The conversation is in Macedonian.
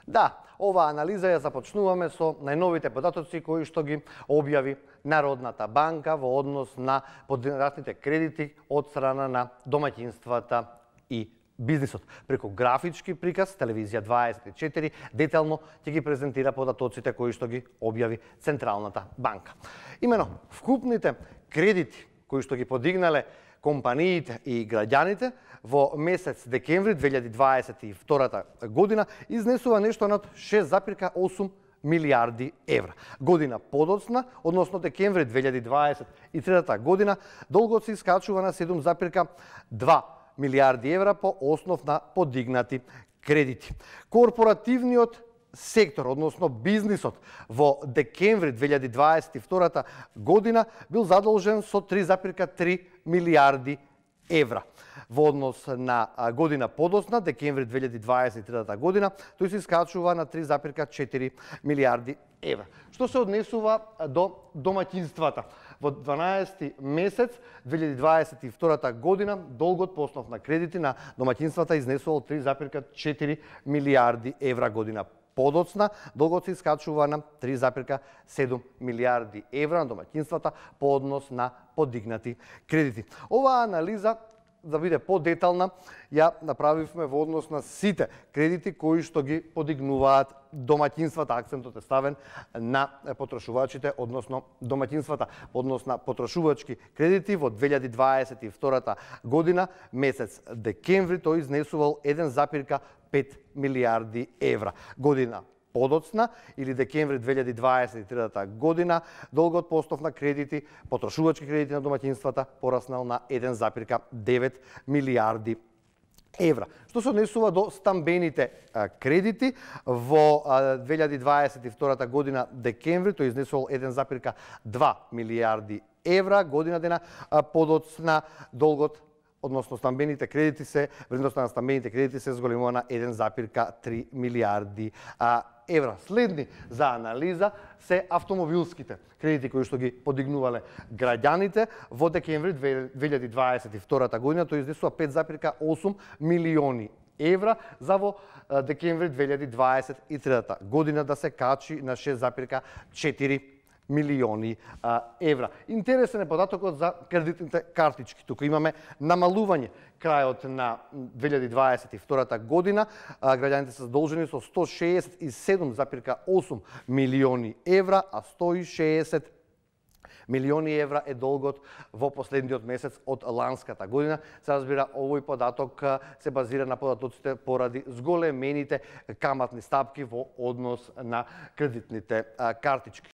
Да, оваа анализа ја започнуваме со најновите податоци кои што ги објави Народната банка во однос на подигнатите кредити од страна на домаќинствата и бизнисот. Преку графички приказ, телевизија 24 детално ќе ги презентира податоците кои што ги објави Централната банка. Имено, вкупните кредити кои што ги подигнале компаниите и граѓаните во месец декември 2022 година изнесува нешто над 6,8 милиарди евра. Година подоцна, односно декември 2023 година, долгот се искачува на 7,2 милиарди евра по основ на подигнати кредити. Корпоративниот сектор, односно бизнисот, во декември 2022 година бил задолжен со 3,3 милиарди евра. Во однос на година подоцна, декември 2023 година, тој се искачува на 3,4 милиарди евра. Што се однесува до домаќинствата? Во 12 месец 2022 година долгот по основ на кредити на домаќинствата изнесувал 3,4 милиарди евра. Година подоцна долгот се искачува на 3,7 милиарди евра на домаќинствата по однос на подигнати кредити. Оваа анализа, да биде подетална, ја направивме во однос на сите кредити кои што ги подигнуваат домаќинствата. Акцентот е ставен на потрошувачите, односно домаќинствата. Во однос на потрошувачки кредити во 2022 година, месец декември, тој изнесувал 1,5 милиарди евра. Година подоцна или декември 2023 година, долгот по основ на кредити, потрошувачки кредити на домаќинствата пораснал на 1,9 милиарди евра. Што се однесува до стамбените кредити, во 2022 година декември тој изнесувал 1,2 милиарди евра, година дена подоцна долгот, односно стамбените кредити вредноста на стамбените кредити се зголемува на 1,3 милиарди евра. Следни за анализа се автомобилските кредити кои што ги подигнувале граѓаните. Во декември 2022 година тој изнесува 5,8 милиони евра, за во декември 2023 година да се качи на 6,4 милиони евра. Интересен е податокот за кредитните картички. Тука имаме намалување. Крајот на 2022 година граѓаните се задолжени со 167,8 милиони евра, а 160 милиони евра е долгот во последниот месец од ланската година. Се разбира, овој податок се базира на податоците поради зголемените каматни стапки во однос на кредитните картички.